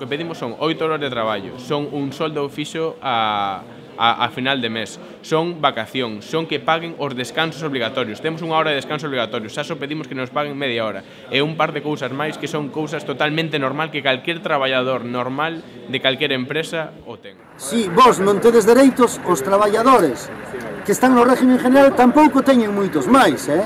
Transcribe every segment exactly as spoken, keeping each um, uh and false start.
que pedimos son oito horas de traballo, son un soldo fixo a, a, a final de mes, son vacación, son que paguen os descansos obligatorios. Temos unha hora de descanso obligatorio, xa só pedimos que nos paguen media hora. E un par de cousas máis que son cousas totalmente normal que calquer traballador normal de calquer empresa o ten. Si vos non tedes dereitos, os traballadores que están no régimen general tampouco teñen moitos máis, eh?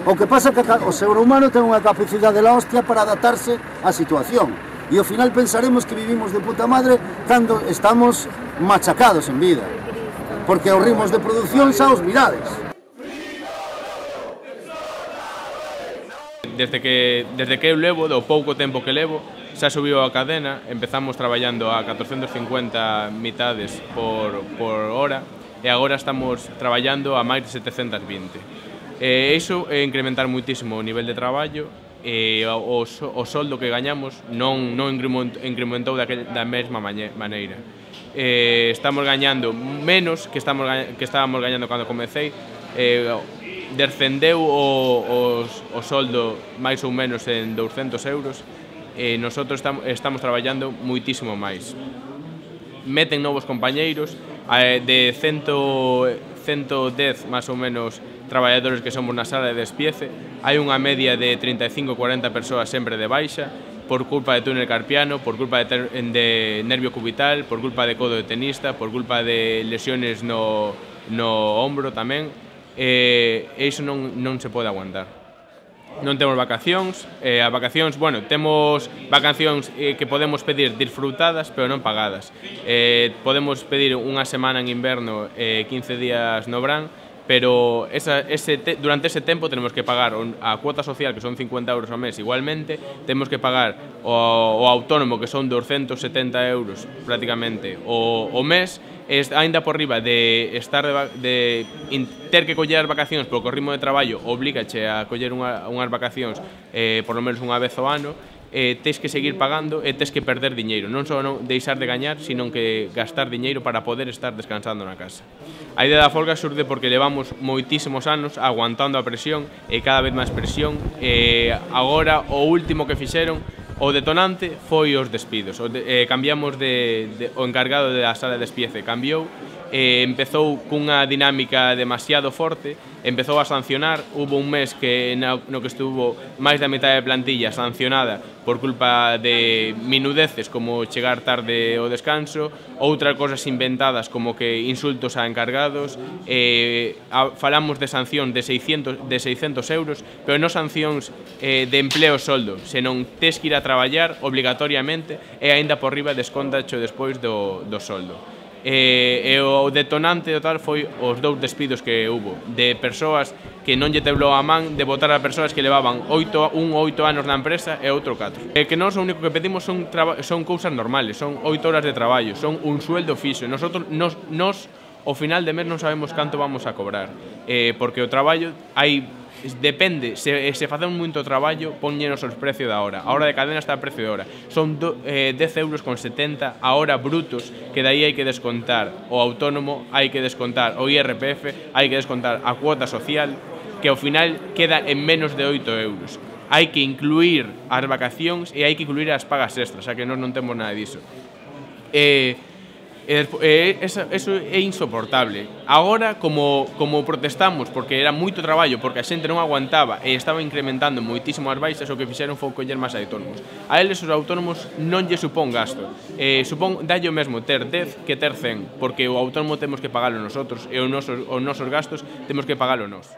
O que pasa é que o ser humano ten unha capacidade de la hostia para adaptarse á situación. E ao final pensaremos que vivimos de puta madre cando estamos machacados en vida. Porque os ritmos de produción xa os mirades. Desde que, desde que eu levo, do pouco tempo que levo, xa subiu a cadena, empezamos traballando a catrocentos cincuenta mitades por, por hora e agora estamos traballando a máis de setecentos vinte. E iso é incrementar moitísimo o nivel de traballo e o, o soldo que gañamos non, non incrementou daquel, da mesma maneira. E estamos gañando menos que, estamos, que estábamos gañando cando comecei. E descendeu o, os, o soldo máis ou menos en douscentos euros e nosotros estamos, estamos traballando moitísimo máis. Meten novos compañeiros de cento, cento dez máis ou menos traballadores que somos na sala de despiece. Hai unha media de trinta e cinco a cuarenta persoas sempre de baixa por culpa de túnel carpiano, por culpa de, ter, de nervio cubital, por culpa de codo de tenista, por culpa de lesiones no, no ombro tamén. E iso non, non se pode aguantar. Non temos vacacións, eh, as vacacións, bueno, temos vacacións eh, que podemos pedir disfrutadas, pero non pagadas. Eh, podemos pedir unha semana en inverno e eh, quince días no verán, pero esa, ese te, durante ese tempo tenemos que pagar a cuota social, que son cincuenta euros ao mes igualmente, temos que pagar o, o autónomo, que son doscientos setenta euros prácticamente o, o mes, e ainda por riba de estar de, de ter que coller as vacacións porque o ritmo de traballo obligache a coller unha, unhas vacacións eh, por lo menos unha vez ao ano. Eh, tes que seguir pagando e tes que perder diñeiro, non só non deixar de gañar, sino que gastar diñeiro para poder estar descansando na casa. A idea da folga surde porque levamos moitísimos anos aguantando a presión e cada vez máis presión, e agora o último que fixeron, o detonante, foi os despidos. O de, eh, cambiamos de, de, o encargado da sala de despiece cambiou, e empezou cunha dinámica demasiado forte, empezou a sancionar. Hubo un mes que no, no que estuvo máis da metade de plantilla sancionada por culpa de minudeces como chegar tarde ao descanso, outras cosas inventadas como que insultos a encargados. Eh, a, falamos de sanción de seiscentos, de seiscentos euros, pero non sancións eh, de empleo soldo, senón tes que ir a traballar obligatoriamente e aínda por riba descontacho despois do, do soldo. E, e o detonante total foi os dous despidos que hubo de persoas que non lle teblou a man de botar a persoas que levaban oito, un oito anos na empresa e outro catro. E que nós o único que pedimos son, son cousas normales, son oito horas de traballo, son un sueldo fixo. Nosotros, nos, nos ao final de mes non sabemos canto vamos a cobrar, eh, porque o traballo hai depende, se, se facemos moito traballo, ponñenos os precio da hora. A hora de cadena está a precio de hora. Son do, eh, dez euros con setenta a hora brutos, que daí hai que descontar o autónomo, hai que descontar o I R P F, hai que descontar a cuota social, que ao final queda en menos de oito euros. Hai que incluir as vacacións e hai que incluir as pagas extras, xa que nós non temos nada diso. Eh, E eso, eso é insoportable. Agora, como, como protestamos porque era moito traballo, porque a xente non aguantaba e estaba incrementando moitísimo as baixas, o que fixeron foi coller máis autónomos. A eles os autónomos non lle supón gasto, eh, supón dalle o mesmo ter dez que ter cen, porque o autónomo temos que pagalo nosotros e os nosos, os nosos gastos temos que pagalo nós.